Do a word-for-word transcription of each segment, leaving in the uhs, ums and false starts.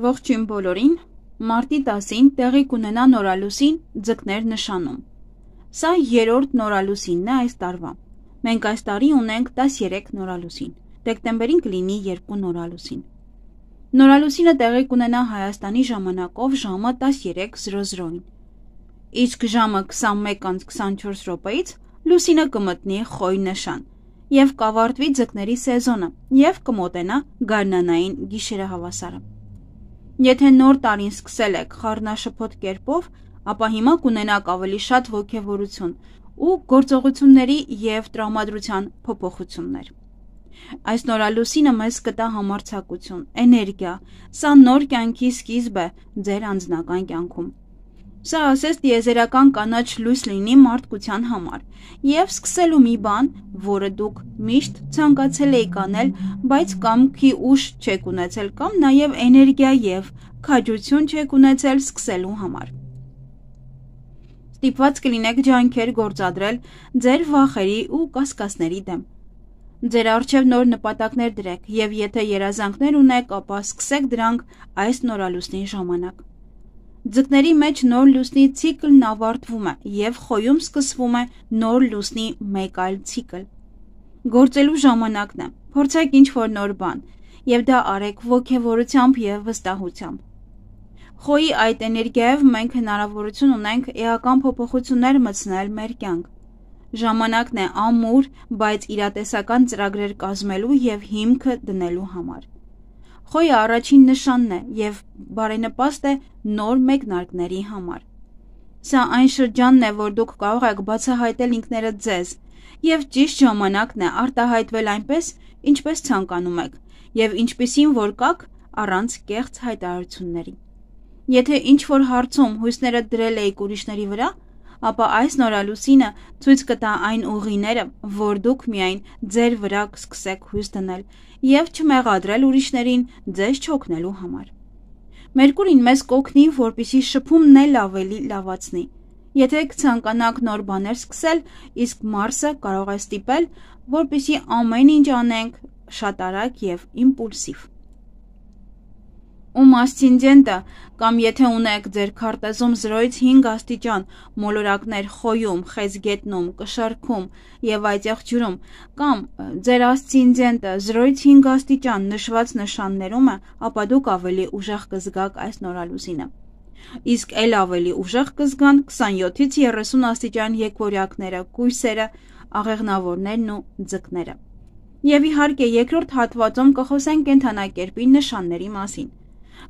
Ողջույն բոլորին, մարտի տասին տեղի կունենա նորալուսին ձկներ նշանում։ Սա երրորդ նորալուսինն է այս տարվա։ Մենք այս տարի ունենք տասներեք նորալուսին, դեկտեմբերին կլինի երկու նորալուսին։ Նորալուսինը տեղի կունենա Հայաստանի ժամանակով ժամը տասներեք զրո զրոին։ Իսկ ժամը քսանմեկ անց քսանչորս րոպեից լուսինը կմտնի խոյ նշան և կավարտվի ձկների սեզոնը և կմոտենա գարնանային գիշերահավասարը։ Եթե նոր տարին սկսել եք խառնաշփոթ կերպով, ապա հիմա կունենաք ավելի շատ ոգևորություն ու գործողությունների և տրամադրության փոփոխություններ։ Այս նորալուսինը մեզ կտա համարձակություն, էներգիա, սա նոր կյանքի սկիզբ է ձեր անձնական կյանքում։ Սա ասես տիեզերական կանաչ լույս լինի մարդկության համար և սկսելու մի բան, որը դուք միշտ ցանկացել էիք անել, բայց կամքի ուժ չեք ունեցել կամ նաև էներգիա և քաջություն չեք ունեցել սկսելու համար։ Ստիպված կլինեք ջանքեր գործադրել ձեր վախերի ու կասկածների դեմ։ Ձեր առջև նոր նպատակներ դրեք և եթե երազանքներ ունեք, ապա սկսեք դրանք այս նորալուսնի ժամանակ։ Ձկների մեջ նոր լուսնի ցիկլն ավարտվում է և խոյում սկսվում է նոր լուսնի մեկ այլ ցիկլ։ Գործելու ժամանակն է, փորձեք ինչ-որ նոր բան և դա արեք ոգևորությամբ և վստահությամբ։ Խոյի այդ էներգիայով մենք հնարավորություն ունենք էական փոփոխություններ մտցնել մեր կյանք։ Ժամանակն է ամուր, բայց իրատեսական ծրագրեր կազմելու և հիմքը դնելու համար։ Խոյը առաջին նշանն է և բարենպաստ է նոր մեկնարկների համար։ Սա այն շրջանն է, որ դուք կարող եք բացահայտել ինքներդ ձեզ և ճիշտ ժամանակն է արտահայտվել այնպես, ինչպես ցանկանում եք և ինչպիսին որ կաք առանց կեղծ հայտարարությունների։ Եթե ինչ-որ հարցում հույսներդ դրել էիք ուրիշների վրա, ապա այս նորալուսինը ցույց կտա այն ուղիները, որ դուք միայն ձեր վրա կսկսեք հույս դնել և չմեղադրել ուրիշներին ձեզ չօգնելու համար։ Մերկուրին մեզ կօգնի, որպեսզի շփումն էլ ավելի լավացնի։ Եթե կցանկանաք նոր բաներ սկսել, իսկ Մարսը կարող է ստիպել, որպեսզի ամեն ինչ անենք շատ արագ և իմպուլսիվ։ Ում ասցենդենտը կամ եթե ունեք ձեր քարտեզում զրոյից հինգ աստիճան մոլորակներ խոյում, խեցգետնում, կշեռքում և այծեղ ջրում կամ ձեր ասցենդենտը զրոյից հինգ աստիճան նշված նշաններում է, ապա դուք ավելի ուժեղ կզգաք այս նորալուսինը։ Իսկ էլ ավելի ուժեղ կզգան քսանյոթից երեսուն աստիճան եկվորյակները, կույսերը, աղեղնավորներն ու ձկները։ Եվ իհարկե երկրորդ հատվածում կխոսենք կենդանակերպի նշանների մասին։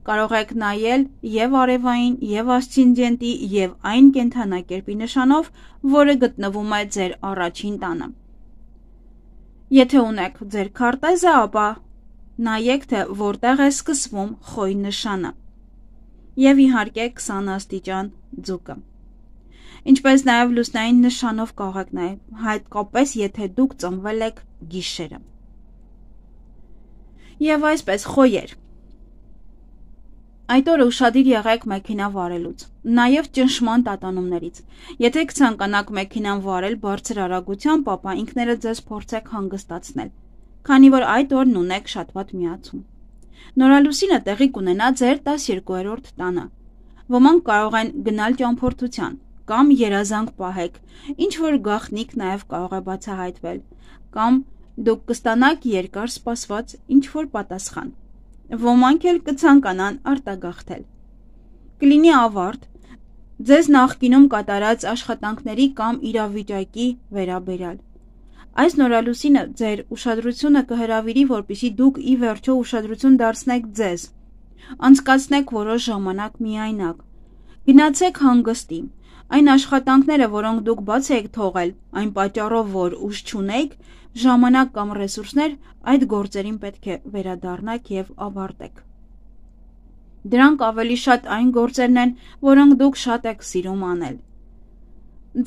Կարող եք նայել և արևային, և ասցենդենտի, և այն կենդանակերպի նշանով, որը գտնվում է ձեր առաջին տանը։ Եթե ունեք ձեր քարտեզը, ապա նայեք, թե որտեղ է սկսվում խոյ նշանը։ Եվ իհարկե քսան աստիճան ձուկը։ Ինչպես նաև լուսնային նշանով կարող եք նայել, հատկապես եթե դուք ծնվել եք գիշերը։ Եվ այսպես խոյեր։ Այդ օրը ուշադիր եղեք մեքենա վարելուց, նաև ճնշման տատանումներից։ Եթե կցանկանաք մեքենան վարել բարձր արագությամբ, ապա ինքներդ ձեզ փորձեք հանգստացնել, քանի որ այդ օրն ունեք շատ վատ միացում։ Նորալուսինը տեղի կունենա ձեր տասներկուերորդ տանը։ Ոմանք կարող են գնալ ճամփորդության կամ երազանք պահեք, ինչ որ գաղտնիք նաև կարող է բացահայտվել, կամ դուք կստանաք երկար սպասված ինչ որ պատասխան։ Ոմանք էլ կցանկանան արտագաղթել։ Կլինի ավարտ ձեզ նախկինում կատարած աշխատանքների կամ իրավիճակի վերաբերյալ։ Այս նորալուսինը ձեր ուշադրությունը կհրավիրի, որպեսզի դուք ի վերջո ուշադրություն դարձնեք ձեզ։ Անցկացնեք որոշ ժամանակ միայնակ։ Գնացեք հանգստի։ Այն աշխատանքները, որոնք դուք բաց եք թողել, այն պատճառով, որ ուժ չունեիք, ժամանակ կամ ռեսուրսներ, այդ գործերին պետք է վերադառնաք և ավարտեք։ Դրանք ավելի շատ այն գործերն են, որոնք դուք շատ եք սիրում անել։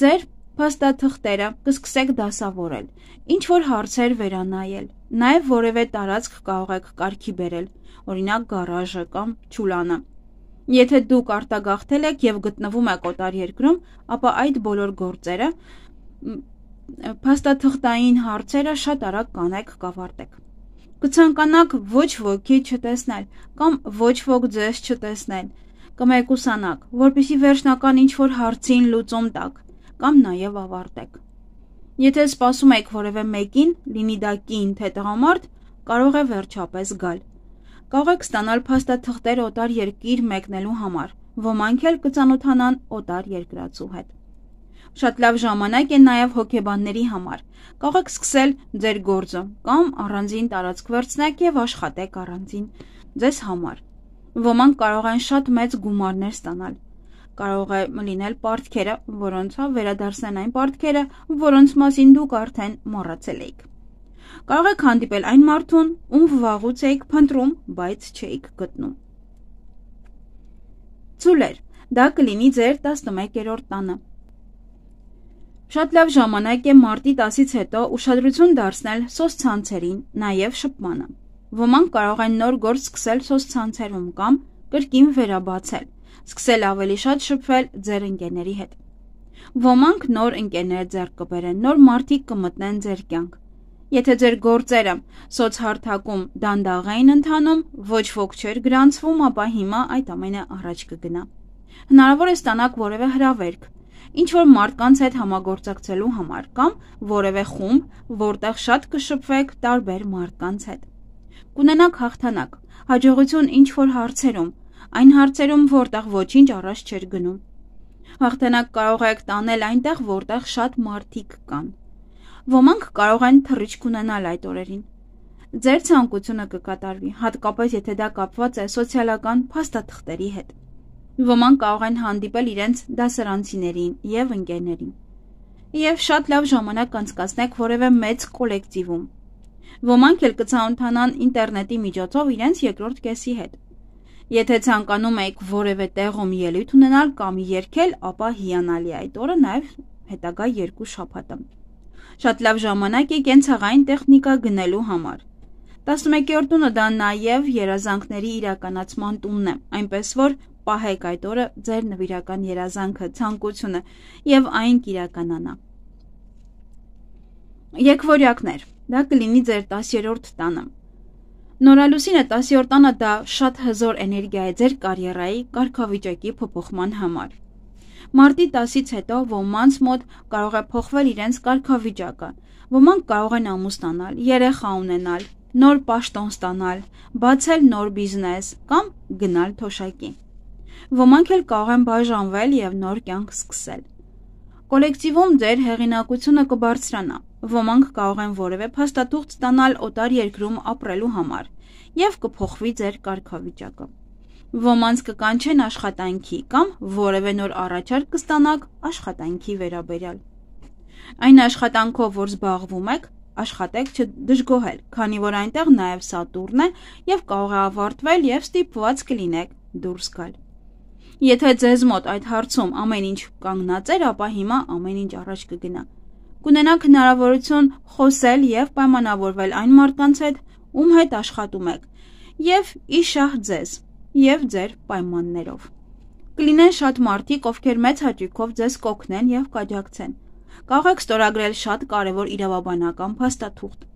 Ձեր փաստաթղթերը կսկսեք դասավորել, ինչ որ հարցեր վերանայել, նաև որևէ տարածք կարող եք կարգի բերել, օրինակ գարաժը կամ չուլանը։ Եթե դուք արտագաղթել եք և գտնվում եք օտար երկրում, ապա այդ բոլոր գործերը, փաստաթղթային հարցերը շատ արագ կանեք կավարտեք։ Կցանկանաք ոչ ոքի չտեսնել կամ ոչ ոք ձեզ չտեսնել, կմեկուսանաք, որպեսզի վերջնական ինչ-որ հարցին լուծում տաք կամ նաև ավարտեք։ Եթե սպասում եք որևէ մեկին, լինի դա կին թե տղամարդ, կարող է վերջապես գալ։ Կարող եք ստանալ փաստաթղթեր օտար երկիր մեկնելու համար, ոմանք էլ կծանոթանան օտար երկրացու հետ։ Շատ լավ ժամանակ է նաև հոգեբանների համար։ Կարող եք սկսել ձեր գործը կամ առանձին տարածք վերցնեք եւ աշխատեք առանձին ձեզ համար։ Ոմանք կարող են շատ մեծ գումարներ ստանալ։ Կարող է լինել պարտքերը, որոնց վերադարձնեն այն պարտքերը, որոնց մասին դուք արդեն մոռացել եք։ Կարող եք հանդիպել այն մարդուն, ում վաղուց եք փնտրում, բայց չէիք գտնում։ Ծուլեր, դա կլինի ձեր տասնմեկերորդ տանը։ Շատ լավ ժամանակ է մարտի տասից հետո ուշադրություն դարձնել սոցցանցերին, նաև շփմանը։ Ոմանք կարող են նոր գործ սկսել սոցցանցերում կամ կրկին վերաբացել, սկսել ավելի շատ շփվել ձեր ընկերների հետ։ Ոմանք նոր ընկերներ ձեռք կբերեն, նոր մարդիկ կմտնեն ձեր կյանք։ Եթե ձեր գործերը սոցհարթակում դանդաղ էին ընթանում, ոչ ոք չէր գրանցվում, ապա հիմա այդ ամենը առաջ կգնա։ Հնարավոր է ստանաք որևէ հրավերք, ինչ-որ մարդկանց հետ համագործակցելու համար կամ որևէ խումբ, որտեղ շատ կշփվեք տարբեր մարդկանց հետ։ Կունենաք հաղթանակ, հաջողություն ինչ-որ հարցերում, այն հարցերում, որտեղ ոչինչ առաջ չէր գնում։ Հաղթանակ կարող եք տանել այնտեղ, որտեղ շատ մարդիկ կան։ Ոմանք կարող են թռիչք ունենալ այդ օրերին։ Ձեր ցանկությունը կկատարվի, հատկապես եթե դա կապված է սոցիալական փաստաթղթերի հետ։ Ոմանք կարող են հանդիպել իրենց դասարանցիներին և ընկերներին։ Եվ շատ լավ ժամանակ անցկացնեք որևէ մեծ կոլեկտիվում։ Ոմանք էլ կծանոթանան ինտերնետի միջոցով իրենց երկրորդ կեսի հետ։ Եթե ցանկանում եք որևէ տեղում ելույթ ունենալ կամ երգել, ապա հիանալի այդ օրը նաև հետագա երկու շաբաթը։ Շատ լավ ժամանակ է կենցաղային տեխնիկա գնելու համար։ տասնմեկերորդ տունը դա նաև երազանքների իրականացման տունն է, այնպես որ պահեք այդ օրը ձեր նվիրական երազանքը, ցանկությունը եւ այն կիրականանա։ Եկվորյակներ, դա կլինի ձեր տասերորդ տանը։ Նորալուսինը տասերորդ տանը դա շատ հզոր էներգիա է ձեր կարիերայի կարգավիճակի փոփոխման համար։ Մարտի տասից հետո ոմանց մոտ կարող է փոխվել իրենց կարգավիճակը, ոմանք կարող են ամուսնանալ, երեխա ունենալ, նոր պաշտոն ստանալ, բացել նոր բիզնես կամ գնալ թոշակի։ Ոմանք էլ կարող են բաժանվել եւ նոր կյանք սկսել։ Կոլեկտիվում ձեր հեղինակությունը կբարձրանա, ոմանք կարող են որևէ փաստաթուղթ ստանալ օտար երկրում ապրելու համար եւ կփոխվի ձեր կարգավիճակը։ Ոմանց կկանչեն աշխատանքի կամ որևէ նոր առաջարկ կստանաք աշխատանքի վերաբերյալ։ Այն աշխատանքով, որ զբաղվում եք, աշխատեք չդժգոհել, քանի որ այնտեղ նաև Սատուրն է եւ կարող է ավարտվել եւ ստիպված կլինեք դուրս գալ։ Եթե ձեզ մոտ այդ հարցում ամեն ինչ կանգնած էր, ապա հիմա ամեն ինչ առաջ կգնա։ Կունենաք հնարավորություն խոսել եւ պայմանավորվել այն մարդկանց հետ, ում հետ աշխատում եք, եւ իշահ ձեզ եւ ձեր պայմաններով։ Կլինեն շատ մարդիկ, ովքեր մեծ հաճույքով ձեզ կօգնեն եւ կաջակցեն։ Կարող եք ստորագրել շատ կարևոր իրավաբանական փաստաթուղթ։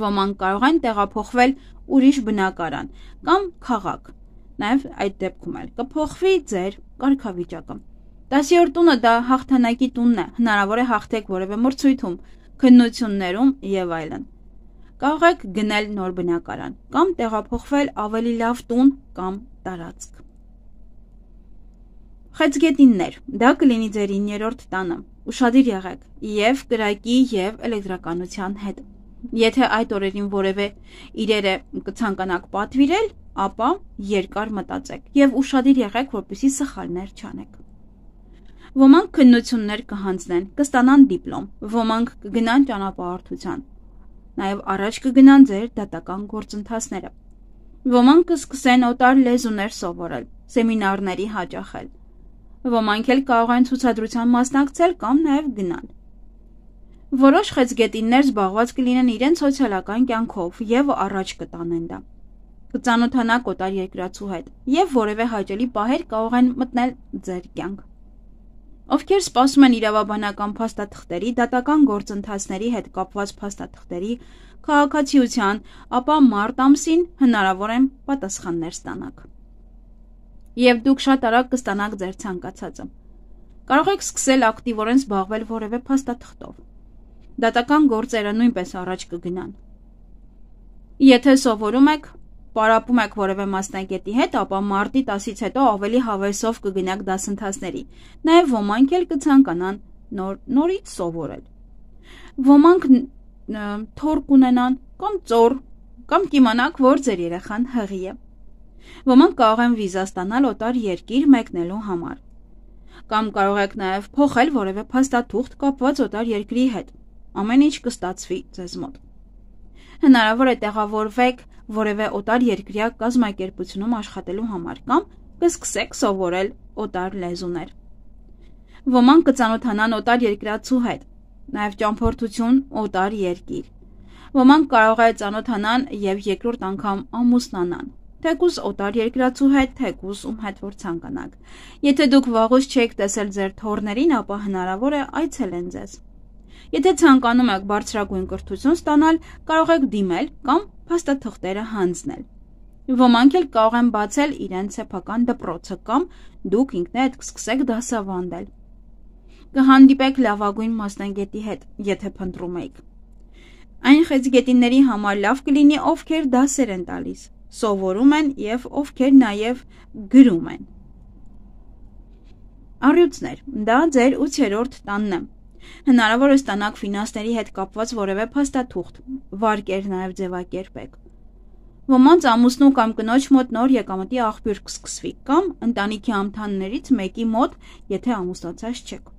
Ոմանք կարող են տեղափոխվել ուրիշ բնակարան կամ քաղաք։ Նաև այդ դեպքում էլ կփոխվի ձեր կարգավիճակը։ տասերորդ տունը դա հաղթանակի տունն է, հնարավոր է հաղթեք որևէ մրցույթում, քննություններում եւ այլն։ Կարող եք գնել նոր բնակարան կամ տեղափոխվել ավելի լավ տուն կամ տարածք։ Խեցգետիններ, դա կլինի ձեր իններորդ տանը։ Ուշադիր եղեք եւ կրակի եւ էլեկտրականության հետ։ Եթե այդ օրերին որևէ իրերը կցանկանաք պատվիրել, ապա երկար մտածեք եւ ուշադիր եղեք, որպեսզի սխալներ չանեք։ Ոմանք քննություններ կհանձնեն, կստանան դիպլոմ, ոմանք կգնան ճանապարհորդության։ Նաեւ առաջ կգնան ձեր դատական գործընթացները։ Ոմանք կսկսեն օտար լեզուներ սովորել, սեմինարների հաճախել։ Ոմանք էլ կարող են ցուցադրության մասնակցել կամ նաև գնալ։ Որոշ խեցգետիններ զբաղված կլինեն իրենց սոցիալական կյանքով եւ առաջ կտանեն դա։ Կծանոթանաք օտար երկրացու հետ եւ որևէ հաճելի պահեր կարող են մտնել ձեր կյանք։ ովքեր սպասում են իրավաբանական փաստաթղթերի, դատական գործընթացների հետ կապված փաստաթղթերի, քաղաքացիության, ապա մարտ ամսին հնարավոր է պատասխաններ ստանաք։ Եվ դուք շատ արագ կստանաք ձեր ցանկացածը։ Կարող եք սկսել ակտիվորեն զբաղվել որևէ փաստաթղթով։ Դատական գործերը նույնպես առաջ կգնան։ Եթե սովորում եք, պարապում եք որևէ մասնագետի հետ, ապա մարտի տասից հետո ավելի հավեսով կգնաք դասընթացների։ Նաև ոմանք էլ կցանկանան նոր, նորից սովորել։ Ոմանք թոր կունենան կամ ծոր, կամ կիմանաք, որ ձեր երեխան հղի է։ Ոմանք կարող են վիզա ստանալ օտար երկիր մեկնելու համար։ Կամ կարող եք նաև փոխել որևէ փաստաթուղթ կապված օտար երկրի հետ։ Ամեն ինչ կստացվի ձեզ մոտ։ Հնարավոր է տեղավորվեք որևէ օտար երկրյա կազմակերպությունում աշխատելու համար կամ կսկսեք սովորել օտար լեզուներ։ Ոմանք կծանոթանան օտար երկրացու հետ, նաև ճամփորդություն օտար երկիր։ Ոմանք կարող է ծանոթանան եւ երկրորդ անգամ ամուսնանան, թեկուզ օտար երկրացու հետ, թեկուզ ում հետ որ ցանկանաք։ Եթե դուք վաղուց չեք տեսել ձեր թոռներին, ապա հնարավոր է այցելեն ձեզ։ Եթե ցանկանում եք բարձրագույն կրթություն ստանալ, կարող եք դիմել կամ փաստաթղթերը հանձնել։ Ոմանք էլ կարող են բացել իրենց սեփական դպրոցը կամ դուք ինքներդ կսկսեք դասավանդել։ Կհանդիպեք լավագույն մասնագետի հետ, եթե փնտրում եք։ Այն խեցգետինների համար լավ կլինի, ովքեր դասեր են տալիս, սովորում են եւ ովքեր նաեւ գրում են։ Առյուծներ, դա ձեր ութերորդ տանն է։ Հնարավոր է ստանաք ֆինանսների հետ կապված որևէ փաստաթուղթ, վարկեր նաև ձևակերպեք։ Ոմանց ամուսնու կամ կնոջ մոտ նոր եկամտի աղբյուր կսկսվի կամ ընտանիքի անդամներից մեկի մոտ, եթե ամուսնացած չեք։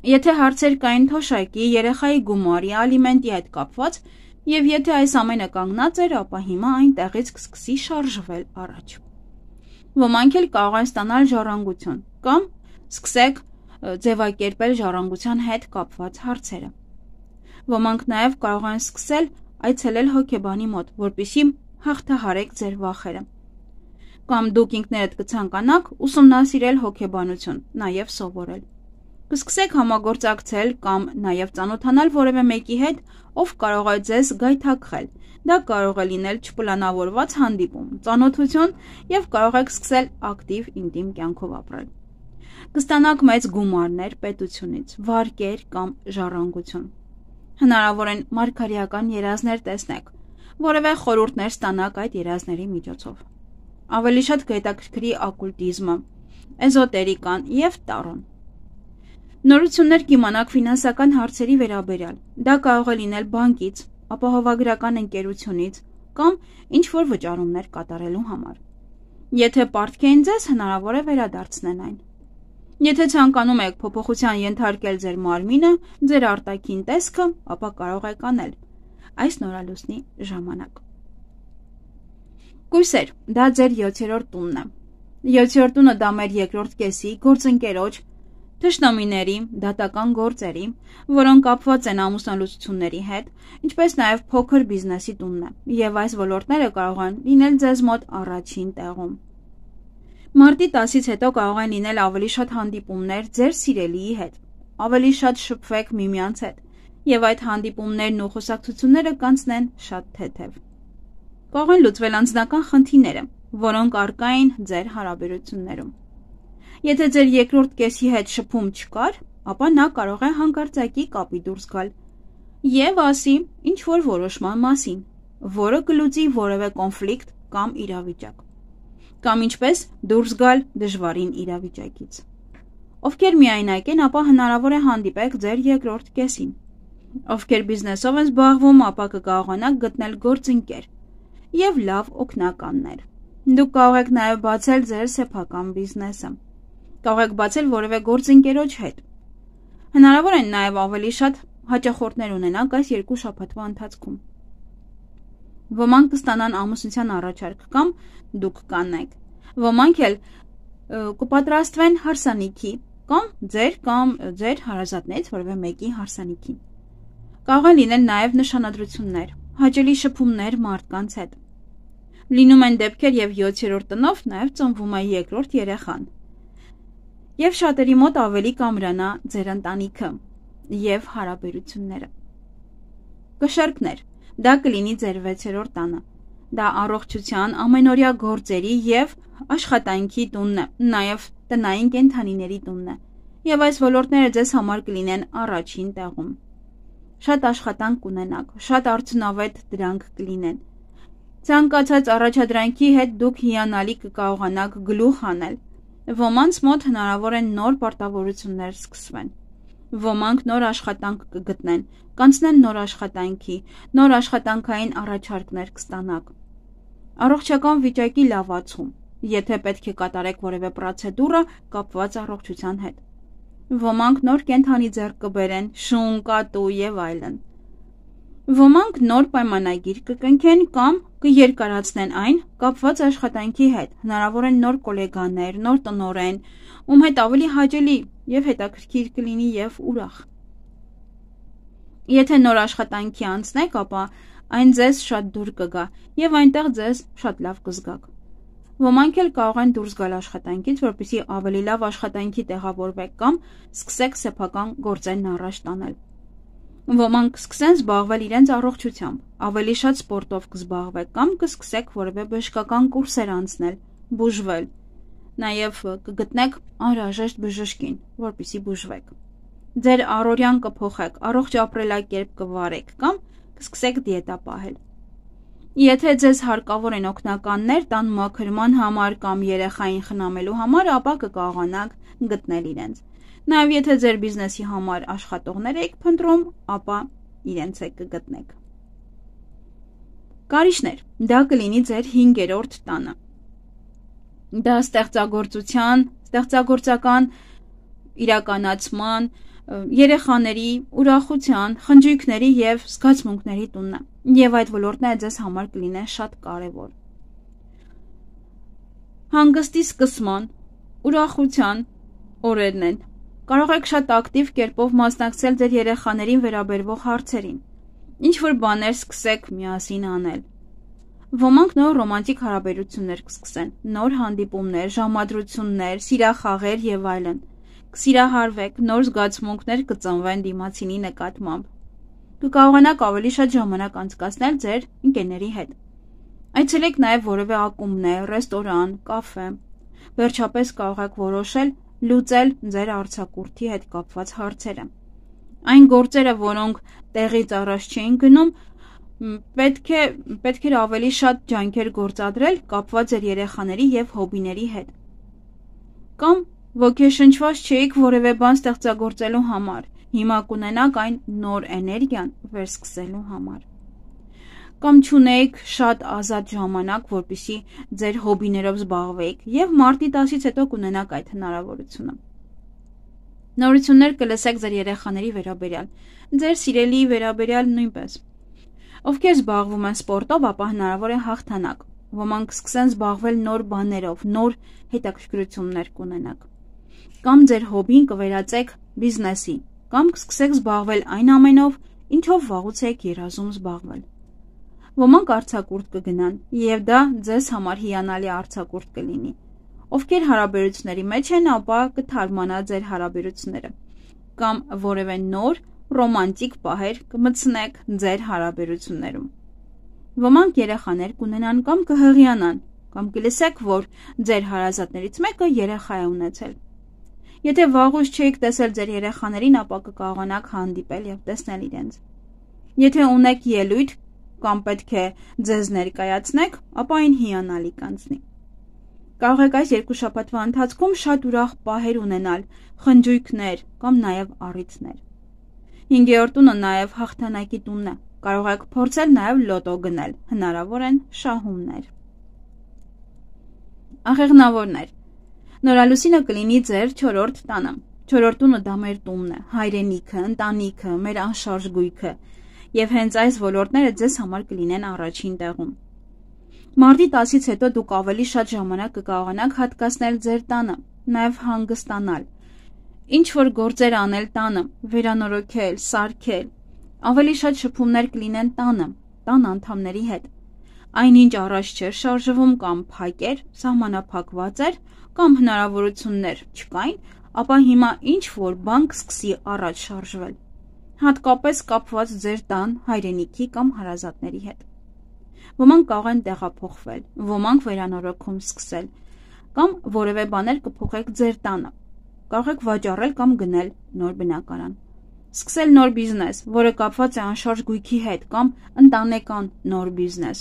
Եթե հարցեր կային թոշակի, երեխայի գումարի, ալիմենտի հետ կապված, եւ եթե այս ամենը կանգնած էր, ապա հիմա այն տեղից կսկսի շարժվել առաջ։ Ոմանք էլ կարող են ստանալ ժառանգություն կամ սկսեք ձևակերպել ժառանգության հետ կապված հարցերը։ Ոմանք նաև կարող են սկսել այցելել հոգեբանի մոտ, որպեսզի հաղթահարեք ձեր վախերը։ Կամ դուք ինքներդ կցանկանաք ուսումնասիրել հոգեբանություն, նաև սովորել։ Կսկսեք համագործակցել կամ նաև ծանոթանալ որևէ մեկի հետ, ով կարող է ձեզ գայթակղել։ Դա կարող է լինել չպլանավորված հանդիպում, ծանոթություն եւ կարող եք սկսել ակտիվ ինտիմ կյանքով ապրել։ Կստանաք մեծ գումարներ պետությունից, վարկեր կամ ժառանգություն։ Հնարավոր են մարգարեական երազներ տեսնեք, որևէ խորհուրդներ ստանաք այդ երազների միջոցով։ Ավելի շատ կհետաքրքրի օկուլտիզմը, էզոտերիկան եւ տարոն։ Նորություններ կիմանաք ֆինանսական հարցերի վերաբերյալ։ Դա կարող է լինել բանկից, ապահովագրական ընկերությունից կամ ինչ-որ վճարումներ կատարելու համար։ Եթե պարտքեն ձեզ, հնարավոր է վերադարձնեն այն։ Եթե ցանկանում եք փոփոխության ենթարկել ձեր մարմինը, ձեր արտաքին տեսքը, ապա կարող եք անել այս նորալուսնի ժամանակ։ Կույսեր, դա ձեր յոթերորդ տունն է։ յոթերորդ տունը դա մեր երկրորդ կեսի, գործընկերոջ, թշնամիների, դատական գործերի, որոնք կապված են ամուսնալուծությունների հետ, ինչպես նաև փոքր բիզնեսի տունն է, եւ այս ոլորտները կարող են լինել ձեզ մոտ առաջին տեղում։ Մարտի տասից հետո կարող են լինել ավելի շատ հանդիպումներ ձեր սիրելիի հետ, ավելի շատ շփվեք միմյանց հետ, եւ այդ հանդիպումներն ու խոսակցությունները կանցնեն շատ թեթև։ Կարող են լուծվել անձնական խնդիրները, որոնք առկա են ձեր հարաբերություններում։ Եթե ձեր երկրորդ կեսի հետ շփում չկար, ապա նա կարող է հանկարծակի կապի դուրս գալ եւ ասի ինչ-որ որոշման մասին, որը կլուծի որևէ կոնֆլիկտ կամ իրավիճակ, կամ ինչպես դուրս գալ դժվարին իրավիճակից։ Ովքեր միայնակ են, ապա հնարավոր է հանդիպեք ձեր երկրորդ կեսին։ Ովքեր բիզնեսով են զբաղվում, ապա կկարողանաք գտնել գործընկեր եւ լավ օգնականներ։ Դուք կարող եք նաեւ բացել ձեր սեփական բիզնեսը։ Կարող եք բացել որևէ գործընկերոջ հետ։ Հնարավոր է նաև ավելի շատ հաճախորդներ ունենաք այս երկու շաբաթվա ընթացքում։ Ոմանք կստանան ամուսնության առաջարկ կամ դուք կանեք։ Ոմանք էլ կպատրաստվեն հարսանիքի կամ ձեր կամ ձեր հարազատներից որևէ մեկի հարսանիքին։ Կարող են լինել նաև նշանադրություններ, հաճելի շփումներ մարդկանց հետ։ Լինում են դեպքեր եւ յոթերորդ տնով նաև ծնվում է երկրորդ երեխան։ եւ շատերի մոտ ավելի կամրանա ձեր ընտանիքը եւ հարաբերությունները։ Կշեռքներ, դա կլինի ձեր վեցերորդ տանը։ Դա առողջության, ամենօրյա գործերի եւ աշխատանքի տունն է, նաեւ տնային կենդանիների տունն է, եւ այս ոլորտները ձեզ համար կլինեն առաջին տեղում։ Շատ աշխատանք կունենաք, շատ արդյունավետ դրանք կլինեն։ Ցանկացած առաջադրանքի հետ դուք հիանալի կկարողանաք գլուխ անել։ Ոմանց մոտ հնարավոր են նոր պարտավորություններ սկսվեն։ Ոմանք նոր աշխատանք կգտնեն, կանցնեն նոր աշխատանքի, նոր աշխատանքային առաջարկներ կստանաք։ Առողջական վիճակի լավացում, եթե պետք է կատարեք որևէ պրոցեդուրը կապված առողջության հետ։ Ոմանք նոր կենդանի ձեռք կբերեն, շուն, կատու եւ այլն։ Ոմանք նոր պայմանագիր կկնքեն կամ կերկարացնեն այն կապված աշխատանքի հետ։ Հնարավոր են նոր գոլեգաներ, նոր տնօրեն, ում հետ ավելի հաճելի եւ հետաքրքիր կլինի եւ ուրախ։ Եթե նոր աշխատանքի անցնեք, ապա այն ձեզ շատ դուր կգա եւ այնտեղ ձեզ շատ լավ կզգաք։ Ոմանք էլ կարող են դուրս գալ աշխատանքից, որպեսզի ավելի լավ աշխատանքի տեղավորվեք կամ սկսեք սեփական գործերն առաջ տանել։ Ոմանք կսկսեն զբաղվել իրենց առողջությամբ, ավելի շատ սպորտով կզբաղվեք կամ կսկսեք որևէ բժշկական կուրսեր անցնել, բուժվել։ Նաև կգտնեք անհրաժեշտ բժշկին, որպեսզի բուժվեք։ Ձեր առօրյան կփոխեք, առողջ ապրելակերպ կվարեք կամ կսկսեք դիետա պահել։ Եթե ձեզ հարկավոր են օգնականներ տան մաքրման համար կամ երեխային խնամելու համար, ապա կկարողանաք գտնել իրենց։ Նաև եթե ձեր բիզնեսի համար աշխատողներ եք փնտրում, ապա իրենց եք կգտնեք։ Կարիճներ, դա կլինի ձեր հինգերորդ տանը։ Դա ստեղծագործության, ստեղծագործական իրականացման, երեխաների, ուրախության, խնջույքների եւ զգացմունքների տունն է, եւ այդ ոլորտները ձեզ համար կլինեն շատ կարեւոր։ Հանգստի սկսման, ուրախության օրերն են։ Կարող եք շատ ակտիվ կերպով մասնակցել ձեր երեխաներին վերաբերվող հարցերին, ինչ որ բաներ սկսեք միասին անել։ Ոմանք նոր ռոմանտիկ հարաբերություններ կսկսեն, նոր հանդիպումներ, ժամադրություններ, սիրախաղեր եւ այլն։ Կսիրահարվեք, նոր զգացմունքներ կծնվեն դիմացինի նկատմամբ։ Կկարողանաք ավելի շատ ժամանակ անցկացնել ձեր ընկերների հետ։ Այցելեք նաև որևէ ակումբներ, ռեստորան, կաֆե։ Վերջապես կարող եք որոշել լուծել ձեր արձակուրդի հետ կապված հարցերը։ Այն գործերը, որոնք տեղից առաջ չէին գնում, պետք է պետք է ավելի շատ ջանքեր գործադրել կապված ձեր երեխաների եւ հոբիների հետ։ Կամ ոգեշնչված չէիք որևէ բան ստեղծագործելու համար, հիմա կունենաք այն նոր էներգիան վերսկսելու համար։ Կամ չունեիք շատ ազատ ժամանակ, որպեսզի ձեր հոբիներով զբաղվեիք եւ մարտի տասից հետո կունենաք այդ հնարավորությունը։ Նորություններ կլսեք ձեր երեխաների վերաբերյալ, ձեր սիրելի վերաբերյալ նույնպես։ Ովքեր զբաղվում են սպորտով, ապա հնարավոր է հաղթանակ։ Ոմանք սկսեն զբաղվել նոր բաներով, նոր հետաքրքրություններ կունենաք։ Կամ ձեր հոբին կվերածեք բիզնեսի, կամ կսկսեք զբաղվել այն ամենով, ինչով վաղուց եք երազում զբաղվել։ Ոմանք արձակուրդ կգնան, եւ դա ձեզ համար հիանալի արձակուրդ կլինի։ Ովքեր հարաբերությունների մեջ են, ապա կթարմանա ձեր հարաբերությունները, կամ որևէ նոր ռոմանտիկ պահեր կմտցնեք ձեր հարաբերություններում։ Ոմանք երեխաներ կունենան կամ կհղիանան, կամ կլսեք, որ ձեր հարազատներից մեկը երեխա է ունեցել։ Եթե վաղուց չէիք տեսել ձեր երեխաներին, ապա կկարողանաք հանդիպել եւ տեսնել իրենց։ Եթե ունեք ելույթ կամ պետք է ձեզ ներկայացնեք, ապա այն հիանալի կանցնի։ Կարող եք այս երկու շաբաթվա ընթացքում շատ ուրախ պահեր ունենալ, խնջույքներ կամ նաեւ առիթներ։ Հինգերորդ տունը նաեւ հաղթանակի տունն է։ Կարող եք փորձել նաեւ լոտո գնել, հնարավոր են շահումներ։ Աղեղնավորներ։ Նորալուսինը կլինի ձեր չորրորդ տանը։ Չորրորդ տունը դա մեր տունն է, հայրենիքը, ընտանիքը, մեր անշարժ գույքը, եւ հենց այս ոլորտները ձեզ համար կլինեն առաջին տեղում։ Մարտի տասից հետո դուք ավելի շատ ժամանակ կկարողանաք հատկացնել ձեր տանը, նաեւ հանգստանալ, ինչ որ գործեր անել տանը, վերանորոգել, սարքել, ավելի շատ շփումներ կլինեն տանը, տան անդամների հետ։ Այնինչ առաջ չէր շարժվում կամ փակ էր, սահմանափակված էր, կամ հնարավորություններ չկային, ապա հիմա ինչ-որ բան կսկսի առաջ շարժվել, հատկապես կապված ձեր տան, հայրենիքի կամ հարազատների հետ։ Ոմանք կարող են տեղափոխվել, ոմանք վերանորոգում սկսել, կամ որևէ բաներ կփոխեք ձեր տանը, կարող եք վաճառել կամ գնել նոր բնակարան, սկսել նոր բիզնես, որը կապված է անշարժ գույքի հետ կամ ընտանեկան նոր բիզնես։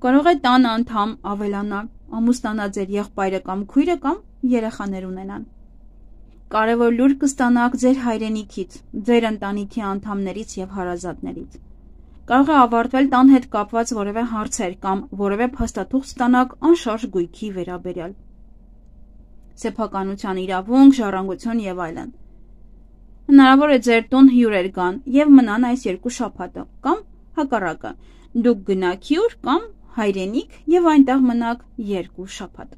Կարող է տան անդամ ավելանալ, ամուսնանա ձեր եղբայրը կամ քույրը կամ երեխաներ ունենան։ Կարևոր լուր կստանաք ձեր հայրենիքից, ձեր ընտանիքի անդամներից եւ հարազատներից։ Կարող է ավարտվել տան հետ կապված որևէ հարցեր կամ որևէ փաստաթուղթ ստանաք անշարժ գույքի վերաբերյալ։ Սեփականության իրավունք, ժառանգություն եւ այլն։ Հնարավոր է ձեր տուն հյուրեր գան եւ մնան այս երկու շաբաթը, կամ հակառակը, դուք գնաք հյուր կամ հայրենիք եւ այնտեղ մնաք երկու շաբաթ։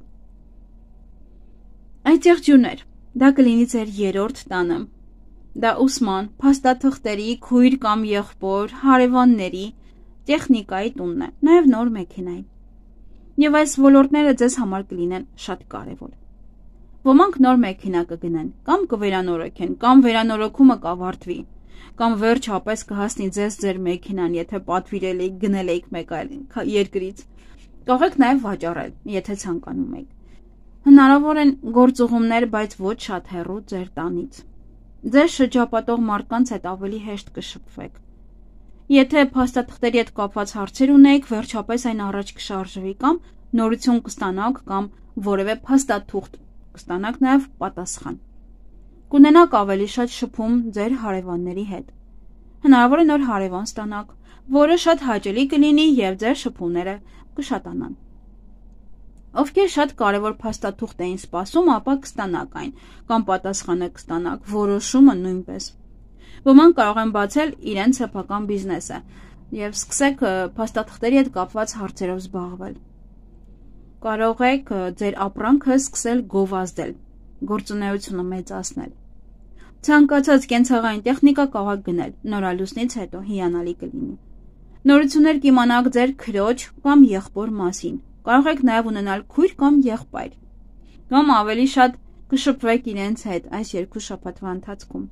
Այդ եղջյուրներ, դա կլինի ձեր երրորդ տանը։ Դա ուսման, փաստաթղթերի, քույր կամ եղբոր, հարևանների, տեխնիկայի տունն է, նաև նոր մեքենայի։ Եվ այս ոլորտները ձեզ համար կլինեն շատ կարևոր։ Ոմանք նոր մեքենա կգնեն, կամ կվերանորոգեն, կամ վերանորոգումը կավարտվի, կամ վերջապես կհասնի ձեզ ձեր մեքենան, եթե պատվիրել եք, գնել եք մեկ այլ երկրից։ Կարող եք նաև վաճառել, եթե ցանկանում եք։ Հնարավոր են գործուղումներ, բայց ոչ շատ հեռու ձեր տանից։ Ձեզ շրջապատող մարդկանց հետ ավելի հեշտ կշփվեք։ Եթե փաստաթղթերի հետ կապված հարցեր ունեք, վերջապես այն առաջ կշարժվի կամ նորություն կստանաք կամ որևէ փաստաթուղթ կստանաք նաև պատասխան։ Կունենաք ավելի շատ շփում ձեր հարևանների հետ։ Հնարավոր է նոր հարևան ստանաք, որը շատ հաճելի կլինի եւ ձեր շփումները կշատանան։ Ովքեր շատ կարևոր փաստաթուղթ էին սպասում, ապա կստանաք այն, կամ պատասխանը կստանաք, որոշումը նույնպես։ Ոմանք կարող են բացել իրենց սեփական բիզնեսը եւ սկսեք փաստաթղթերի հետ կապված հարցերով զբաղվել։ Կարող եք ձեր ապրանքը սկսել գովազդել, գործունեությունը մեծացնել։ Ցանկացած կենցաղային տեխնիկա կարող եք գնել, նորալուսնից հետո հիանալի կլինի։ Նորություններ կիմանաք ձեր քրոջ կամ եղբոր մասին։ Կարող եք նաև ունենալ քույր կամ եղբայր, կամ ավելի շատ կշփվեք իրենց հետ այս երկու շաբաթվա ընթացքում։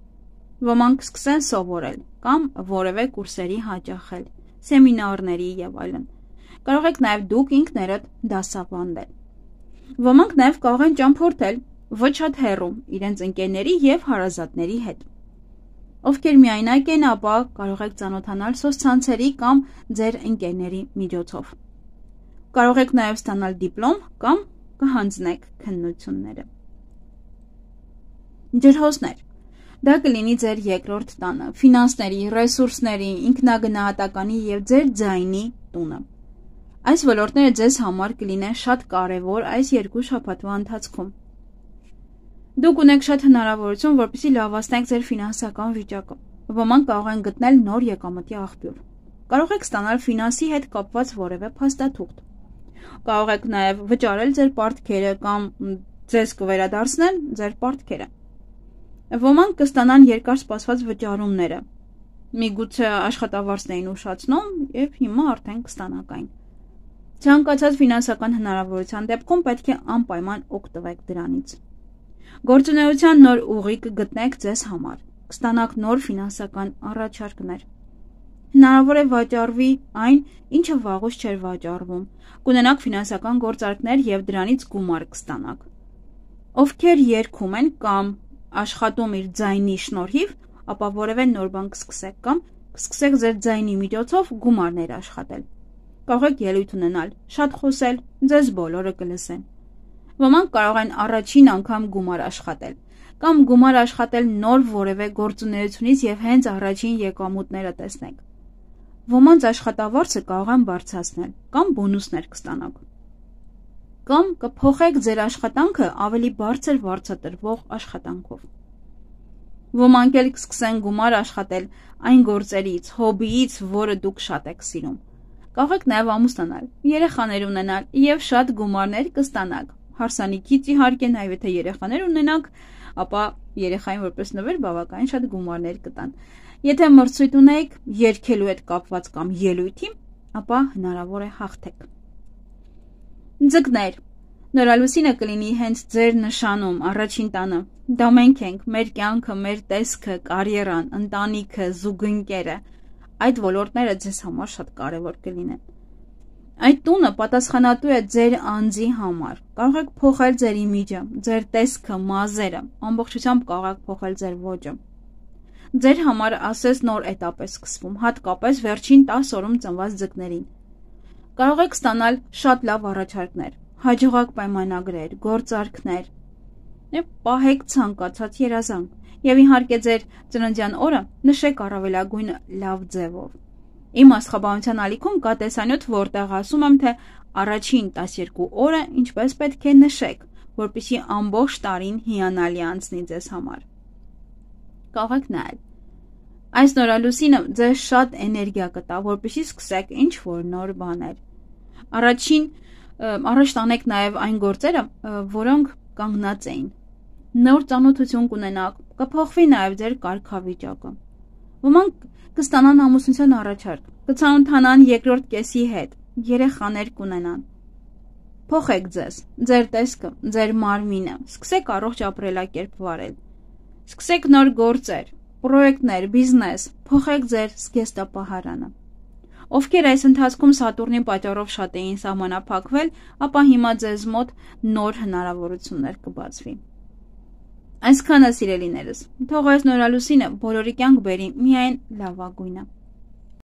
Ոմանք կսկսեն սովորել կամ որևէ կուրսերի հաճախել, սեմինարների եւ այլն։ Կարող եք նաև դուք ինքներդ դասավանդել։ Ոմանք նաև կարող են ճամփորդել ոչ շատ հեռու իրենց ընկերների եւ հարազատների հետ։ Ովքեր միայնակ են, ապա կարող եք ծանոթանալ սոցցանցերի կամ ձեր ընկերների միջոցով։ Կարող եք նաև ստանալ դիպլոմ կամ կհանձնեք քննությունները։ Ջրհոսներ։ Դա կլինի ձեր երկրորդ տանը, ֆինանսների, ռեսուրսների, ինքնագնահատականի եւ ձեր ձայնի տունը։ Այս ոլորտները ձեզ համար կլինեն շատ կարևոր այս երկու շաբաթվա ընթացքում։ Դուք ունեք շատ հնարավորություն, որպեսզի լավացնեք ձեր ֆինանսական վիճակը։ Ոմանք կարող են գտնել նոր եկամտի աղբյուր։ Կարող եք ստանալ ֆինանսի հետ կապված որևէ փաստաթուղթ։ Կարող եք նաև վճարել ձեր պարտքերը կամ ձեզ կվերադարձնեն ձեր պարտքերը։ Ոմանք կստանան երկար սպասված վճարումները։ Միգուցե աշխատավարձն էին ուշացնում եւ հիմա արդեն կստանաք այն։ Ցանկացած ֆինանսական հնարավորության դեպքում պետք է անպայման օգտվեք դրանից։ Գործունեության նոր ուղի կգտնեք ձեզ համար։ Կստանաք նոր ֆինանսական առաջարկներ։ Հնարավոր է վաճառվի այն, ինչը վաղուց չէր վաճառվում։ Կունենաք ֆինանսական գործարքներ եւ դրանից գումար կստանաք։ Ովքեր երգում են կամ աշխատում իր ձայնի շնորհիվ, ապա որևէ նոր բան կսկսեք կամ կսկսեք ձեր ձայնի միջոցով գումարներ աշխատել։ Կարող եք ելույթ ունենալ, շատ խոսել, ձեզ բոլորը կլսեն։ Ոմանք կարող են առաջին անգամ գումար աշխատել կամ գումար աշխատել նոր որևէ գործունեությունից եւ հենց առաջին եկամուտները տեսնեք։ Ոմանց աշխատավարձը կարող են բարձրացնել կամ բոնուսներ կստանաք։ Կամ կփոխեք ձեր աշխատանքը ավելի բարձր վարձատրվող աշխատանքով։ Ոմանք էլ կսկսեն գումար աշխատել այն գործերից, հոբիից, որը դուք շատ եք սիրում։ Կարող եք նաև ամուսնանալ, երեխաներ ունենալ եւ շատ գումարներ կստանաք։ Հարսանիքից իհարկե նաև եթե երեխաներ ունենաք, ապա երեխային որպես նվեր բավականին շատ գումարներ կտան։ Եթե մրցույթ ունեք երգելու հետ կապված կամ ելույթի, ապա հնարավոր է հաղթեք։ Ձկներ։ Նորալուսինը կլինի հենց ձեր նշանում, առաջին տանը։ Դա մենք ենք, մեր կյանքը, մեր տեսքը, կարիերան, ընտանիքը, զուգընկերը։ Այդ ոլորտները ձեզ համար շատ կարևոր կլինեն։ Այդ տունը պատասխանատու է ձեր անձի համար։ Կարող եք փոխել ձեր իմիջը, ձեր տեսքը, մազերը, ամբողջությամբ կարող եք փոխել ձեր ոճը։ Ձեր համար ասես նոր էտապ է սկսվում, հատկապես վերջին տասը օրում ծնված ձկներին։ Կարող եք ստանալ շատ լավ առաջարկներ, հաջողակ պայմանագրեր, գործարքներ եւ պահեք ցանկացած երազանք եւ իհարկե ձեր ծննդյան օրը նշեք առավելագույն լավ ձևով։ Իմ աստղաբանության ալիքում կա տեսանյութ, որտեղ ասում եմ, թե առաջին տասներկու օրը ինչպես պետք է նշեք, որպեսզի ամբողջ տարին հիանալի անցնի ձեզ համար։ Կարող եք նայել։ Այս նորալուսինը ձեզ շատ էներգիա կտա, որպեսզի սկսեք ինչ-որ նոր բաներ։ Առաջին Առաջ տանեք նաև այն գործերը, որոնք կանգնած էին։ Նոր ծանոթություն կունենաք, կփոխվի նաև ձեր կարգավիճակը։ Ոմանք կստանան ամուսնության առաջարկ, կծանոթանան երկրորդ կեսի հետ, երեխաներ կունենան։ Փոխեք ձեզ, ձեր տեսքը, ձեր մարմինը, սկսեք առողջ ապրելակերպ վարել։ Սկսեք նոր գործեր, պրոյեկտներ, բիզնես, փոխեք ձեր զգեստապահարանը։ Ովքեր այս ընթացքում Սատուրնի պատճառով շատ էին սահմանափակվել, ապա հիմա ձեզ մոտ նոր հնարավորություններ կբացվի։ Այսքանը սիրելիներս, թող այս նորալուսինը բոլորի կյանք բերի միայն լավագույնը։